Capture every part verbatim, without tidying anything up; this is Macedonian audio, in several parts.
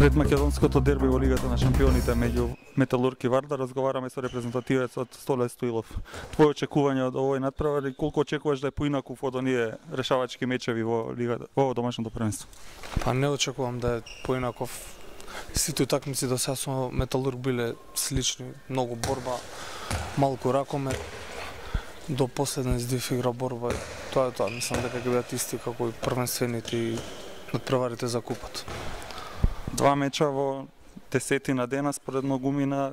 Пред македонското дерби во Лигата на шампионите меѓу Металург и Вардар разговараме со репрезентативец од Столе Стоилов. Твои очекувања од овој надпревар и колку очекуваш да е поинаков од оние решавачки мечеви во Лигата, во домашното првенство? Па не очекувам да е поинаков. Сите утакмици до сега со Металург биле слични, многу борба, малку ракомет, до последен издив игра борба. Тоа е тоа, мислам дека ќе бидат исти како и првенствените и надпреварите за купот. Два меча во десетина дена според многумина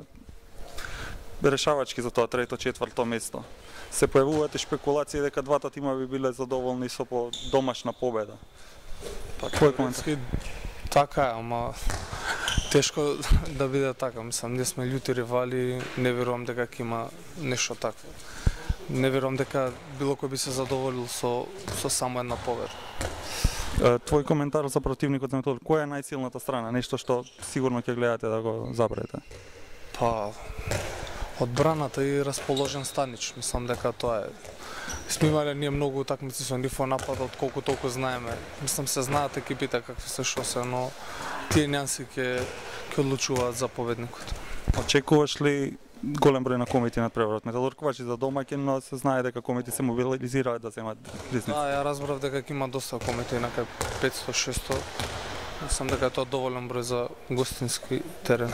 решавачки за тоа трето четврто место. Се појавуваат и шпекулации дека двата тима би биле задоволни со по домашна победа. Па кој коментар? Така е, ама тешко да биде така, мислам, ние сме љути ривали, не верувам дека ќе има нешто такво. Не верувам дека било кој би се задоволил со со само една победа. Твој коментар за противникот на Металург, која е најсилната страна, нешто што сигурно ќе гледате да го забравите? Па одбраната и расположен Станич, мислам дека тоа е. Сме имале ние многу утакмици со нив во нападот, колку толку знаеме. Мислам се знаат екипите какви се што се, но тие нюанси ќе ќе одлучуваат за победникот. Очекуваш ли голем број на комити на преварот? Металург важи за домаќин, но се знае дека комити се мобилизираат да земат ризници. Да, ја разбрав дека има доста комити, некај петсто шесто. Мислам дека тоа е доволен број за гостински терен.